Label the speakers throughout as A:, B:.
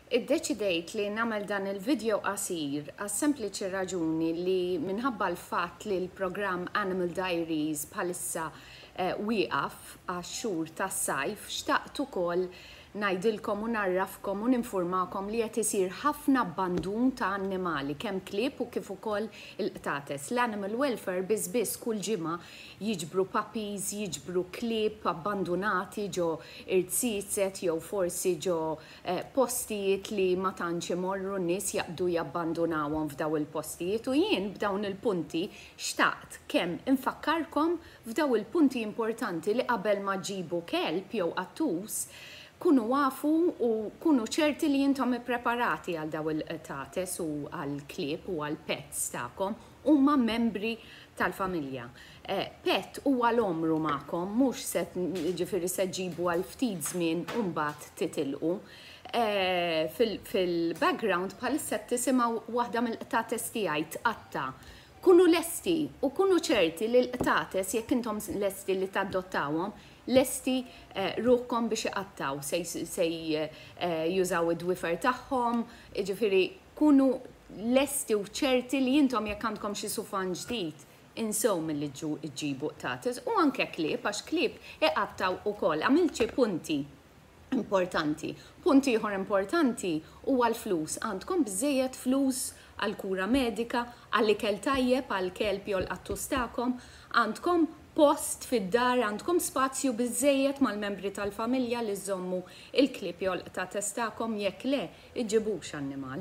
A: Iddeċidejt li nagħmel dan il-video qasir għas-sempliċi raġuni li minħabba l-fatt li l-programm Animal Diaries bħalissa wieqaf għax-xhur tas-sajf, xtaqt ukoll ngħidilkom u ngħarrafkom u ninfurmakom li qed isir ħafna abbandun ta' annimali, kemm klieb u kif ukoll il-qtates. L-Animal Welfare biss biss kull ġimgħa jiġbru puppies, jiġbru klieb abbandunati ġo irziezet jew forsi ġo postijiet li ma tantx imorru n-nies jaqbdu jabbandunawhom f'daw il-postijiet u jien b'dawn il-punti xtaqt kemm infakkarkom f'daw il-punti importanti li qabel ma ġġibu kelb jew qattus kunu afu u kunu ċerti li intom ippreparati għal daw il-qtates u għall-klieb u għall-pets tagħkom huma membri tal-familja. Pet huwa l-għomru magħkom, mhux se jiġifieri se ġġibu għal ftit żmien u mbagħad titilqu. Fil-background bħalissa qed tisimgħu waħda mill-qtates tiegħi tqatta'. Kunu lesti u kunu ċerti li l-qtates jekk intom lesti li tadottawhom, lesti ruħkom biex iqattgħu, se jużaw id-dwiefer tagħhom, jiġifieri kunu lesti u ċerti li intom jekk għandkom xi sufan ġdid, insew milli ġġibu qtates u anke klieb għax klieb iqattgħu ukoll. Għamilt xi punti importanti. Punt ieħor importanti huwa l-flus. Għandkom biżżejjed flus għall-kura medika, għall-ikel tajjeb għall-kelb jew l-qattus tagħkom? Għandkom post fid-dar, għandkom spazju biżżejjed mal-membri tal-familja li żżommu il-klieb jew l-qtates tagħkom? Jekk le, iġġibux annimal.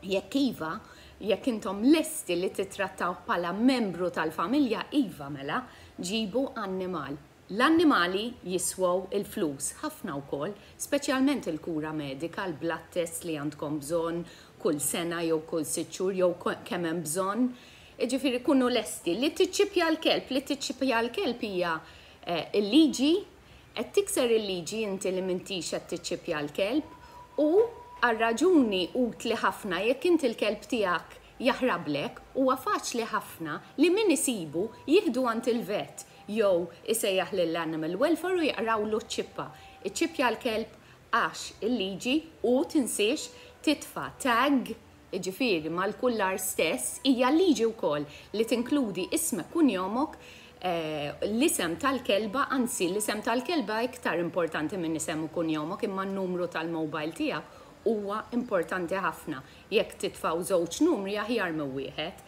A: Jekk iva, jekk intom lesti li tittrattawh bħala membru tal-familja, iva mela, ġibu annimal. L-annimali jiswew il-flus, ħafna wkoll, speċjalment il-kura medika, l-blood test li għandkom bżonn kull sena jew kull sitt xhur jew kemm hemm bżonn. Jiġifieri kunu lesti. Li tiċċippja l-kelb, li tiċċippja l-kelb hija l-liġi, Qed tikser il-liġi inti li m'intix qed tiċċippja l-kelb u, għal raġuni utli ħafna, jekk inti l-kelb tiegħek jaħrablek, huwa faċli ħafna li min isibu jieħdu għand il-vet jew isejjaħ lill-animal welfare u jaqrawlu ċ-ċippa. Iċċippja l-kelb għax il-liġi u tinsiex titfa' tag jiġifieri mal-kullar stess, hija liġi wkoll li tinkludi ismek kunjomok, l-isem tal-kelba, anzi l-isem tal-kelba iktar importanti minn isem u kunjomok imma n-numru tal-mobile tiegħek huwa importanti ħafna. Jekk titfgħu żewġ numri aħjar minn wieħed.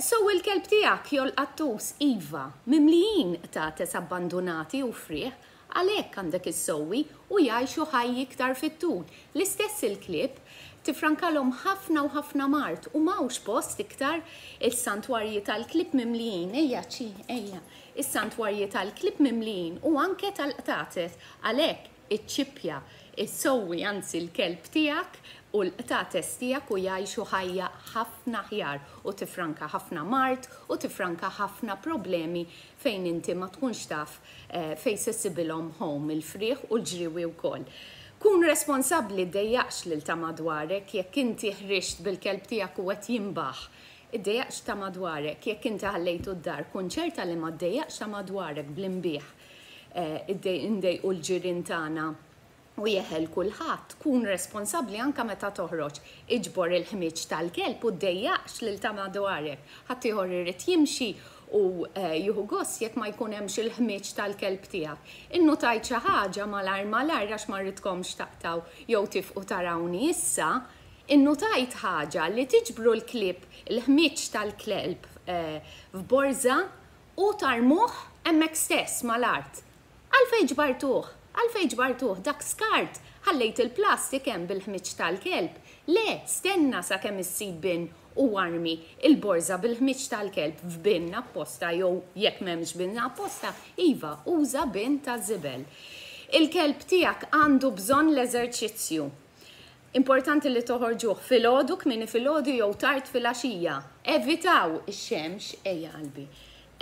A: So il-kelb tiegħek jew l-qattus, iva, mimlijin qtates abbandunati u frieħ, Għalhekk għandek issewwi u jgħixu ħajji iktar fit-tul. L-istess il-klieb, tiffrankalhom ħafna u ħafna mard u m'hawnx post iktar, is-santwarji tal-klieb mimlijin, ejja ċi, ejja, is-santwarji tal-klieb mimlijin u anke tal-qtates. Għalhekk iċċippja, issewwi anzi l-kelb tiegħek u l-qtates tiegħek u jgħixu ħajja ħafna aħjar u tiffranka ħafna mard u tiffranka ħafna problemi fejn inti ma tkunx taf fejn se ssibilhom home il-frieħ u l-ġriewi wkoll. Kun responsabbli ddejjaqx lil ta' madwarek jekk inti ħriġt bil-kelb tiegħek u qed jinbaħ. Iddejjaqx ta' madwarek jekk inti ħallejtu d-dar kun ċerta li ma ddejjaqx ta' madwarek bl-inbiħ. Indejqu l-ġirien tagħna u jeħel kulħadd, kun responsabbli anke meta toħroġ. Iġbor il-ħmieġ tal-kelb u ddejjaqx lil ta' madwarek. Ħaddieħor irid jimxi u jieħu gost jekk ma jkun hemmx il-ħmieġ tal-kelb tiegħek. Innutajt xi ħaġa malajr malajr għax ma rridkomx taqtgħu jew tifqu tarawni issa, innutajt ħaġa li tiġbru l-klieb il-ħmieġ tal-kelb f'borża u tarmuh hemmhekk stess mal-art. Għalfejn ġbartuh? Għalfejn ġbartuh? Dak skart! Ħallejt il-plastik hemm bil-ħmieġ tal-kelb? Le, stenna sakemm issib bin u armi l-borża bil-ħmieġ tal-kelb f'bin apposta jew jekk m'hemmx bin apposta, iva, uża bin taż-żibel. Il-kelb tiegħek għandu bżonn l-eżerċizzju. Importanti li toħorġuh filgħodu, kmieni filgħodu jew tard filgħaxija. Evitaw ix-xemx, ejja qalbi.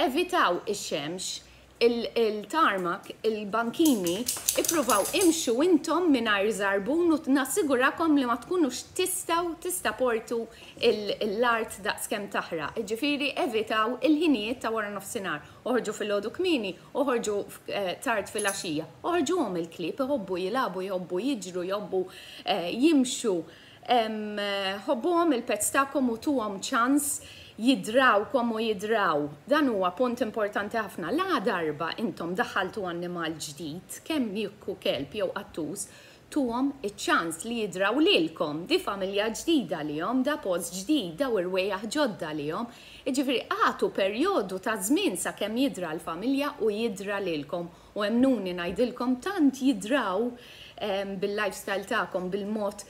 A: Evitaw ix-xemx. Il-tarmac, il-bankini, ippruvaw imxu intom mingħajr żarbun u nassigurakom li ma tkunux tistgħu tistaportu l-art daqskemm taħraq. Jiġifieri evitaw il-ħinijiet ta' wara nofsinhar. Oħorġu filgħodu kmieni, oħorġu tard filgħaxija. Oħorġuhom il-klieb, iħobbu jilagħbu, jħobbu jiġru, jħobbu jimxu. Ħobbuhom il-pets tagħkom u tuhom ċans jidrawkom u jidraw. Dan huwa punt importanti ħafna. La darba intom daħħaltu annimal ġdid, kemm jekk hu kelb jew qattus, tuhom iċ-ċans li jidraw lilkom. Di familja ġdida għalihom, da post ġdid, daw irwejjaħ ġodda għalihom. Jiġifieri agħtu perjodu ta' żmien sakemm jidra l-familja u jidra lilkom. U emmnuni ngħidilkom tant jidraw bil-lifestyle tagħkom, bil-mod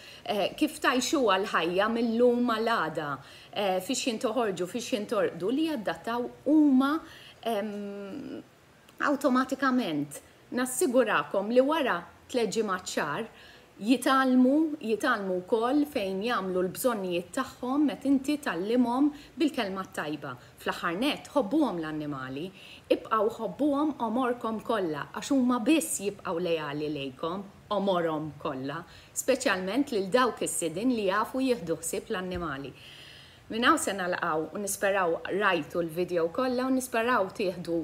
A: kif tgħixuha l-ħajja mil-lum għal għada, fiex jien toħorġu, fiex jien torqdu, li jadattaw huma awtomatikament. Nassigurakom li wara tlett ġimgħat xahar jitgħallmu, jitgħallmu wkoll fejn jagħmlu l-bżonnijiet tagħhom meta inti tgħallimhom bil-kelma t-tajba. Fl-aħħar nett, ħobbuhom l-annimali. Ibqgħu ħobbuhom għomorkom kollha għax huma biss jibqgħu leali lejkom għomorhom kollha, speċjalment lil dawk is-sidien li jafu jieħdu ħsieb l-annimali. Minn hawn se nagħlqaw u nisperaw rajtu l-video kollha u nisperaw tieħdu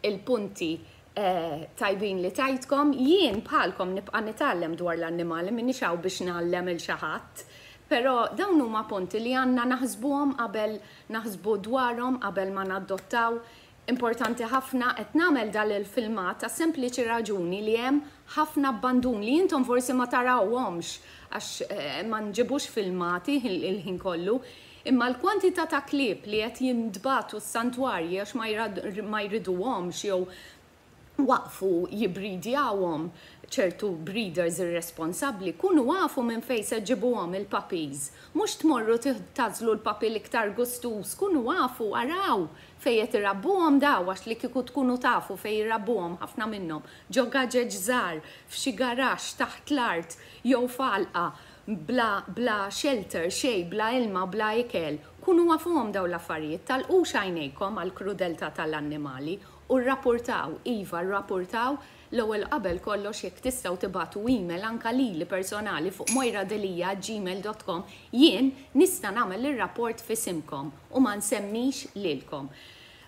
A: l-punti tajbin li tajtkom. Jien bħalkom nibqa' nitgħallem dwar l-annimali, m'iniex hawn biex ngħallem 'il xi ħadd. Però dawn huma punti li għandna naħsbuhom qabel naħsbu dwarhom qabel ma nadottaw. Importanti ħafna, qed nagħmel dal il-filmat għas-sempliċi raġuni li hemm ħafna abbandun li intom forsi ma tarawhomx għax ma nġibux filmati il-ħin kollu, imma l-kwantità ta' klieb li qed jintbagħtu s-santwarji għax ma jriduhomx jew waqfu jibbridjawhom ċertu breeders irresponsabbli, kunu afu minn fejn se ġġibuhom il-puppies. Mhux tmorru tagħżlu l-puppy l-iktar gustuż, kunu afu, araw fejn qed irabbuhom daw għax li kieku tkunu tafu fejn irabbuhom ħafna minnhom, ġo gaġeġ żgħar, f'xi garaxx taħt l-art jew f'għalqa bla bla shelter, xejn, bla ilma, bla ikel. Kunu afuhom dawn l-affarijiet, tagħlqux għajnejkom għall-krudeltà tal-annimali U rrapurtaw, iva rrapurtaw, l-ewwel u qabel kollox jekk tistgħu tibagħtu email anka lili personali fuq moiradelia@gmail.com jien nista' nagħmel ir-rapport f'isimkom u ma nsemmix lilkom.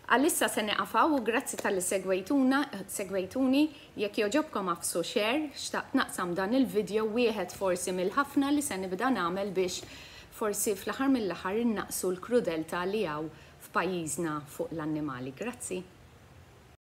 A: Għalissa se nieqaf hawn u grazzi talli segwejtuna, segwejtuni, jekk jogħġobkom agħfsu share, xtaqt naqsam dan il-video wieħed forsi mill-ħafna li se nibda nagħmel biex forsi fl-aħħar mill-aħħar innaqqsu l-krudeltà li hawn f'pajjiżna fuq l-annimali. Grazzi.